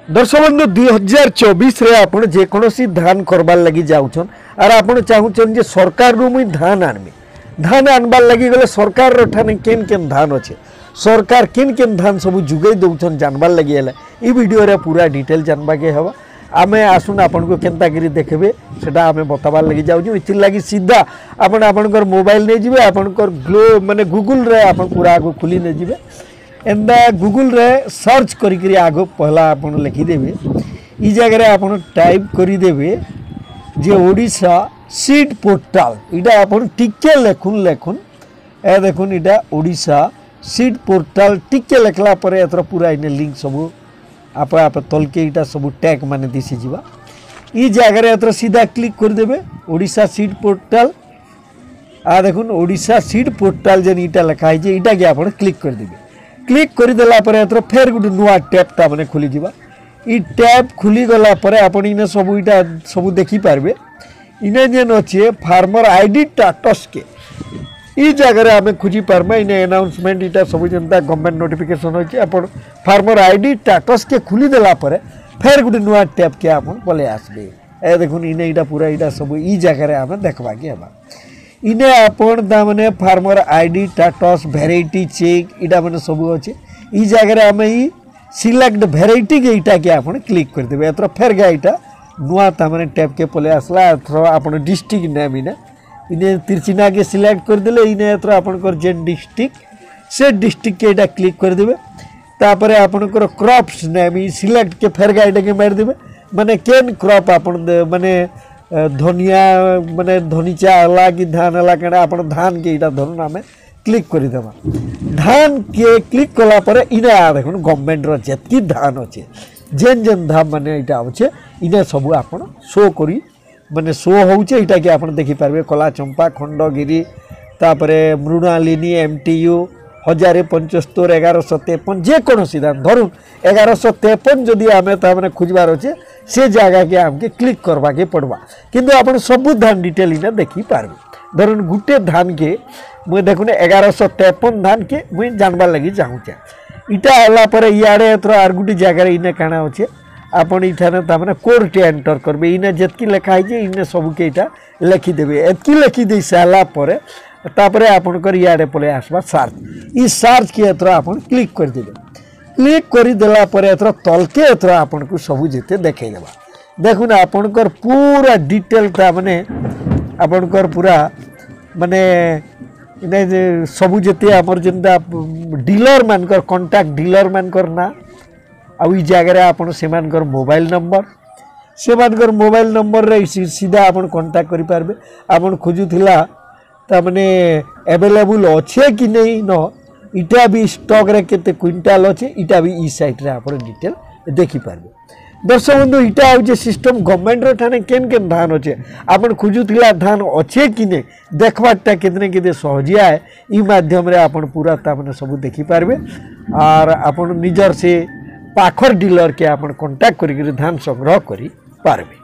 ଦର୍ଶକ ବନ୍ଧୁ, 2024ରେ ଆପଣ ଯେକୌଣସି ଧାନ କରବାର୍ ଲାଗି ଯାଉଛନ୍ ଆର୍ ଆପଣ ଚାହୁଁଛନ୍ ଯେ ସରକାରରୁ ମୁଇଁ ଧାନ ଆଣମି, ଧାନ ଆଣବାର୍ ଲାଗି ଗଲେ ସରକାରର ଠାନେ କେନ୍ କେନ୍ ଧାନ ଅଛେ, ସରକାର କେନ୍ କେନ୍ ଧାନ ସବୁ ଯୋଗାଇ ଦେଉଛନ୍ ଜାନବାର୍ ଲାଗି ହେଲେ ଇ ଭିଡ଼ିଓରେ ପୁରା ଡିଟେଲ୍ ଜାନବାକେ ହେବା। ଆମେ ଆସୁନ୍, ଆପଣଙ୍କୁ କେନ୍ତା କରି ଦେଖିବେ ସେଟା ଆମେ ବତାବାର୍ ଲାଗି ଯାଉଛୁ। ଏଥିର୍ ଲାଗି ସିଧା ଆପଣ ଆପଣଙ୍କର ମୋବାଇଲ ନେଇଯିବେ, ଆପଣଙ୍କର ଗ୍ଲୋ ମାନେ ଗୁଗୁଲରେ ଆପଣ ପୁରା ଆଗ ଖୋଲି ନେଇଯିବେ। ଏନ୍ତା ଗୁଗୁଲରେ ସର୍ଚ୍ଚ କରିକିରି ଆଗ ପହଲା ଆପଣ ଲେଖିଦେବେ, ଇ ଜାଗାରେ ଆପଣ ଟାଇପ୍ କରିଦେବେ ଯେ ଓଡ଼ିଶା ସିଡ୍ ପୋର୍ଟାଲ। ଇଟା ଆପଣ ଟିକେ ଲେଖୁନ୍ ଲେଖୁନ୍, ଏ ଦେଖୁନ୍, ଇଟା ଓଡ଼ିଶା ସିଡ୍ ପୋର୍ଟାଲ। ଟିକେ ଲେଖଲା ପରେ ଏଥର ପୁରା ଇନେ ଲିଙ୍କ ସବୁ ଆପେ ଆପେ ତଲକେ ଇଟା ସବୁ ଟ୍ୟାଗ୍ ମାନେ ଦିଶିଯିବା। ଇ ଜାଗାରେ ଏଥର ସିଧା କ୍ଲିକ୍ କରିଦେବେ ଓଡ଼ିଶା ସିଡ୍ ପୋର୍ଟାଲ। ଆ ଦେଖୁନ୍, ଓଡ଼ିଶା ସିଡ୍ ପୋର୍ଟାଲ ଯେନ୍ ଇଟା ଲେଖା ହେଇছে, ଇଟାକେ ଆପଣ କ୍ଲିକ୍ କରିଦେବେ। କ୍ଲିକ୍ କରିଦେଲା ପରେ ଏଥର ଫେର୍ ଗୋଟେ ନୂଆ ଟ୍ୟାବ୍ଟା ମାନେ ଖୋଲିଯିବା। ଇ ଟ୍ୟାବ୍ ଖୋଲିଗଲା ପରେ ଆପଣ ଇନେ ସବୁ ଇଟା ସବୁ ଦେଖିପାରିବେ। ଇନେ ଯେନ୍ ଅଛେ ଫାର୍ମର ଆଇଡି ଷ୍ଟାଟସ୍କେ ଇ ଜାଗାରେ ଆମେ ଖୋଜି ପାର୍ମା। ଇନେ ଆନାଉନ୍ସମେଣ୍ଟ ଇଟା ସବୁ ଯେନ୍ତା ଗଭର୍ଣ୍ଣମେଣ୍ଟ ନୋଟିଫିକେସନ୍ ଅଛି। ଆପଣ ଫାର୍ମର ଆଇଡି ଷ୍ଟାଟସ୍କେ ଖୋଲିଦେଲା ପରେ ଫେର୍ ଗୋଟେ ନୂଆ ଟ୍ୟାବ୍କେ ଆପଣ ପଳେଇ ଆସିବେ। ଏ ଦେଖୁନ୍, ଇନେ ଇଟା ପୁରା ଇଟା ସବୁ ଇ ଜାଗାରେ ଆମେ ଦେଖବାକେ ହେବା। ଇନେ ଆପଣ ତାମାନେ ଫାର୍ମର ଆଇଡି ଷ୍ଟାଟସ୍, ଭେରାଇଟି ଚେକ୍ ଇଟା ମାନେ ସବୁ ଅଛେ। ଇ ଜାଗାରେ ଆମେ ଇ ସିଲେକ୍ଟ ଭେରାଇଟିକେ ଇଟାକେ ଆପଣ କ୍ଲିକ୍ କରିଦେବେ। ଏଥର ଫେର୍ ଗା ଇଟା ନୂଆ ତାମାନେ ଟ୍ୟାବ୍କେ ପଳେଇ ଆସିଲା। ଏଥର ଆପଣ ଡିଷ୍ଟ୍ରିକ୍ଟ ନେମ୍ ଇନେ ଇନେ ତିର୍ଚିନାକେ ସିଲେକ୍ଟ କରିଦେଲେ, ଇନେ ଏଥର ଆପଣଙ୍କର ଯେନ୍ ଡିଷ୍ଟ୍ରିକ୍ଟ ସେ ଡିଷ୍ଟ୍ରିକ୍ଟକେ ଏଇଟା କ୍ଲିକ୍ କରିଦେବେ। ତାପରେ ଆପଣଙ୍କର କ୍ରପ୍ସ ନେମ୍ ଇ ସିଲେକ୍ଟକେ ଫେର୍ ଗା ଏଇଟାକେ ମାରିଦେବେ, ମାନେ କେନ୍ କ୍ରପ୍ ଆପଣ ମାନେ ଧନିଆ ମାନେ ଧନିଚା ହେଲା କି ଧାନ ହେଲା କାଣା, ଆପଣ ଧାନକେ ଏଇଟା ଧରୁନ୍ ଆମେ କ୍ଲିକ୍ କରିଦେବା। ଧାନକେ କ୍ଲିକ୍ କଲା ପରେ ଇନେ ଦେଖୁନ୍, ଗଭର୍ଣ୍ଣମେଣ୍ଟର ଯେତ୍କି ଧାନ ଅଛେ, ଯେନ୍ ଯେନ୍ ଧାନ ମାନେ ଏଇଟା ଅଛେ, ଇନେ ସବୁ ଆପଣ ଶୋ କରି ମାନେ ଶୋ ହଉଛେ। ଏଇଟାକେ ଆପଣ ଦେଖିପାରିବେ, କଲା ଚମ୍ପା, ଖଣ୍ଡଗିରି, ତାପରେ ମୃଣାଲିନୀ, MTU 1075, 1153, ଯେକୌଣସି ଧାନ ଧରୁନ୍ 1153 ଯଦି ଆମେ ତାମାନେ ଖୋଜବାର ଅଛେ, ସେ ଜାଗାକେ ଆମକେ କ୍ଲିକ୍ କରବାକେ ପଡ଼ବା। କିନ୍ତୁ ଆପଣ ସବୁ ଧାନ ଡିଟେଲ୍ ଇନେ ଦେଖିପାରିବେ। ଧରୁନ୍ ଗୁଟେ ଧାନକେ ମୁଇଁ ଦେଖୁନ୍, 1153 ଧାନକେ ମୁଇଁ ଜାଣବାର୍ ଲାଗି ଚାହୁଁଛେ। ଇଟା ହେଲା ପରେ ଇଆଡ଼େ ଏଥର ଆର୍ ଗୁଟେ ଜାଗାରେ ଇନେ କାଣା ଅଛେ, ଆପଣ ଇଠାନେ ତାମାନେ କୋଡ଼୍ଟେ ଏଣ୍ଟର କରିବେ। ଇନେ ଯେତ୍କି ଲେଖା ହେଇছে, ଇନେ ସବୁକେ ଇଟା ଲେଖିଦେବେ। ଏତ୍କି ଲେଖି ଦେଇ ସାରିଲା ପରେ ତାପରେ ଆପଣଙ୍କର ଇଆଡ଼େ ପଳେଇ ଆସବା ସାର୍ଚ୍ଚ। ଇ ସାର୍ଚ୍ଚକେ ଏଥର ଆପଣ କ୍ଲିକ୍ କରିଦେବେ। କ୍ଲିକ୍ କରିଦେଲା ପରେ ଏଥର ତଲକେ ଏଥର ଆପଣଙ୍କୁ ସବୁ ଯେତେ ଦେଖେଇଦେବା। ଦେଖୁନ୍, ଆପଣଙ୍କର ପୁରା ଡିଟେଲଟା ମାନେ ଆପଣଙ୍କର ପୁରା ମାନେ ଇନେ ଯେ ସବୁ ଯେତେ ଆମର ଯେନ୍ତା ଡିଲର ମାନଙ୍କର କଣ୍ଟାକ୍ଟ, ଡିଲର ମାନଙ୍କର ନାଁ, ଆଉ ଇ ଜାଗାରେ ଆପଣ ସେମାନଙ୍କର ମୋବାଇଲ ନମ୍ବର, ସେମାନଙ୍କର ମୋବାଇଲ ନମ୍ବରରେ ସିଧା ଆପଣ କଣ୍ଟାକ୍ଟ କରିପାରିବେ। ଆପଣ ଖୋଜୁଥିଲା ତାମାନେ ଆଭେଲେବୁଲ୍ ଅଛେ କି ନେଇ ନ, ଇଟା ବି ଷ୍ଟକ୍ରେ କେତେ କୁଇଣ୍ଟାଲ ଅଛେ, ଇଟା ବି ଇ ସାଇଟ୍ରେ ଆପଣ ଡିଟେଲ୍ ଦେଖିପାରିବେ। ଦର୍ଶକ ବନ୍ଧୁ, ଇଟା ହଉଛେ ସିଷ୍ଟମ୍। ଗଭର୍ଣ୍ଣମେଣ୍ଟର ଠାନେ କେନ୍ କେନ୍ ଧାନ ଅଛେ, ଆପଣ ଖୋଜୁଥିଲା ଧାନ ଅଛେ କି ନେଇ ଦେଖବାରଟା କେତେ କେତେ ସହଜିଆ ଏ। ଇ ମାଧ୍ୟମରେ ଆପଣ ପୁରା ତାମାନେ ସବୁ ଦେଖିପାରିବେ ଆର୍ ଆପଣ ନିଜର ସେ ପାଖର ଡିଲରକେ ଆପଣ କଣ୍ଟାକ୍ଟ କରିକିରି ଧାନ ସଂଗ୍ରହ କରିପାରିବେ।